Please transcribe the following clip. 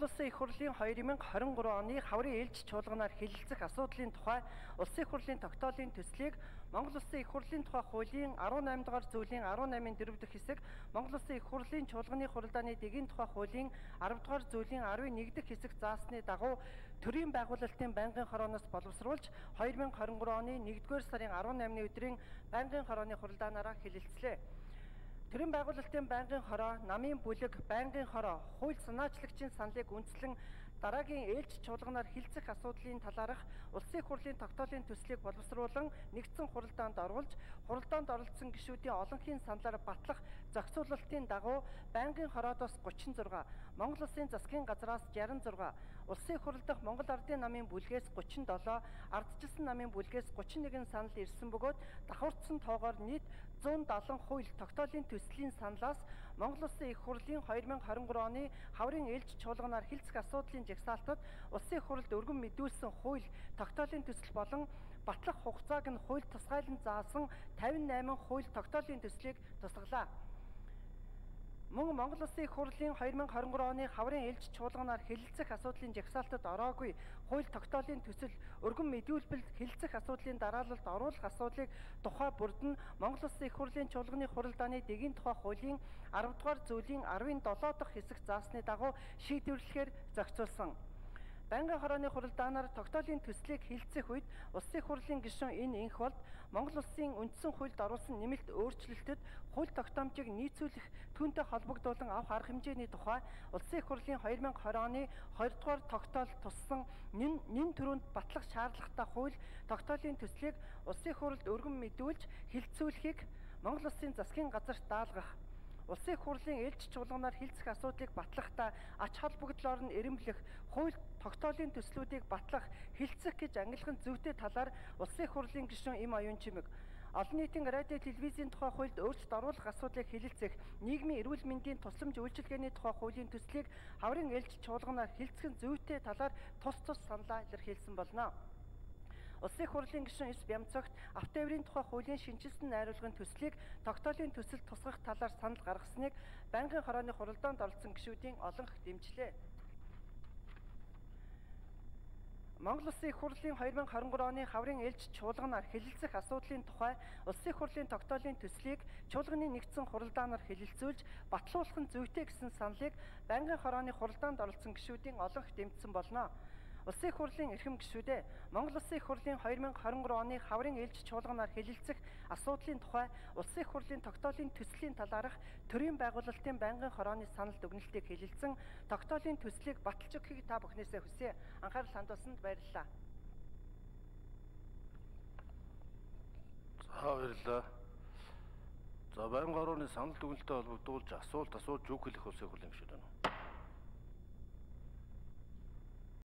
Монгол Улсын их хурлын 2023 оны хаврын ээлж чуулганаар хэлэлцэх асуудлын тухай Улсын их хурлын тогтоолын төслийг Монгол Улсын их хурлын тухай хуулийн 18 дугаар зүйлийн 18-ын 4 дахь хэсэг, Монгол Улсын их хурлын чуулганы хуралдааны дэгийн тухай хуулийн 10 дугаар зүйлийн 11 дахь хэсэг заасны дагуу төрийн байгуулалтын байнгын хорооноос боловсруулж 2023 оны 1-р сарын 18-ны өдрийн байнгын хорооны хуралдаанаараа хэлэлцлээ. Төрийн байгуулалтын байнгын хороо, намын бүлэг, байнгын хороо, хууль санаачлагчийн саналыг үндэслэн дараагийн ээлж чуулганаар хэлцэх асуудлын талаарх Улсын их хурлын тогтоолын төслийг боловсруулан нэгдсэн хуралдаанд оруулж, хуралдаанд оролцсон гишүүдийн олонхын саналаар батлах зохицуулалтын дагуу байнгын хороодоос 36, Монгол Улсын засгийн газраас 66, Улсын их хурл дахь Монгол Ардын намын бүлгээс 37, Ардчилсан намын бүлгээс 31 санал ирсэн бөгөөд давхурдсан тоогоор нийт 170 хууль тогтоолын төслийн саналаас Монгол Улсын их хурлын 2023 оны хаврын ээлж чуулганаар хэлцэх асуудлын жагсаалтад Улсын их хурлд өргөн мэдүүлсэн хууль тогтоолын төсөл болон батлах хугацааг нь хууль тусгайлан заасан 58 хууль тогтоолын төслийг тусгалаа. Мөн Монгол Улсын их хурлын 2023 оны хаврын ээлж чуулганаар хэлэлцэх асуудлын жагсаалтад ороогүй хууль тогтоолын төсөл өргөн мэдүүлбэл хэлэлцэх асуудлын дараалалд оруулах асуудлыг тухай бүрд нь Монгол Улсын их хурлын чуулганы хуралдааны дэгийн тухай хуулийн 10 дугаар зүйлийн 17 дахь хэсэг заасны дагуу шийдвэрлэхээр зохицуулсан. Байнгын хорооны хуралдаанаар тогтоолын төслийг хэлэлцэх үед Улсын их хурлын гишүүн энэ энх болд Монгол Улсын үндсэн хуульд оруулсан нэмэлт өөрчлөлтөд хууль тогтоомжийг нийцүүлэх түүнтэй холбогдуулан авах арга хэмжээний тухай Улсын их хурлын 2020 оны 20 дугаар тогтоол туссан нэн төрөнд батлах шаардлагатай хууль тогтоолын төслийг Улсын их хурлд өргөн мэдүүлж хэлэлцүүлэхийг Монгол Улсын засгийн газарт даалгах, Улсын их хурлын ээлж чуулганаар хэлцэх асуудлыг батлахдаа ач холбогдлоор нь эрэмблэх, хууль тогтоолын төслүүдийг батлах, хэлцэх гэж ангилах зүйтэй талаар Улсын их хурлын гишүүн Им Оюун Чимэг олон нийтийн радио телевизийн тухай хуульд өөрчлөлт оруулах асуудлыг хэлэлцэх, нийгмийн эрүүл мэндийн тусламж үйлчилгээний тухай хуулийн төслийг хаврын ээлж чуулганаар хэлцэх зүйтэй талаар тус саналаа илэрхийлсэн болно. Улсын их хурлын гишүүн Эс Бямцогт автотоврын тухай хуулийн шинжилсэн найруулгын төслийг тогтоолын төсөлд тусгах талаар санал гаргасныг байнгын хорооны хуралдаанд оролцсон гишүүдийн олонх дэмжлээ. Монгол Улсын их хурлын 2023 оны хаврын ээлж чуулганаар хэлэлцэх асуудлын тухай Улсын их хурлын тогтоолын төслийг чуулганы нэгдсэн хуралдаанаар хэлэлцүүлж батлуулах нь зүйтэй гэсэн саналыг байнгын хорооны хуралдаанд оролцсон гишүүдийн олонх дэмжсэн болно. Улсын их хурлын эрхэм гишүүдээ Монгол Улсын их хурлын 2023 оны хаврын ээлж чуулганаар хэлэлцэх асуудлын тухай Улсын их хурлын тогтоолын төслийн талаарх төрийн байгуулалтын байнгын хорооны санал дүгнэлтийг хэлэлцэн тогтоолын төслийг баталж өгөхийг та бүхнээсээ хүсье. Анхаарал хандуулсанд баярлалаа. За баярлалаа. За байнгын хорооны санал дүгнэлтэд холбогдуулж асуулт асууж үг хэлэх Улсын их хурлын гишүүд байна уу?